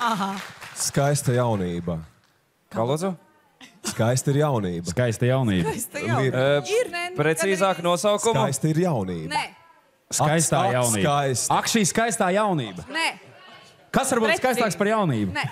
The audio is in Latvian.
Aha. Skaista jaunība. Kā lūdzu? Skaista ir jaunība. Skaista jaunība. Precīzāk nosaukumu? Skaista ir jaunība. Nē. Skaistā jaunība. Skaista. Ak, šī skaistā jaunība. Nē. Kas var būt skaistāks par jaunību? Nē.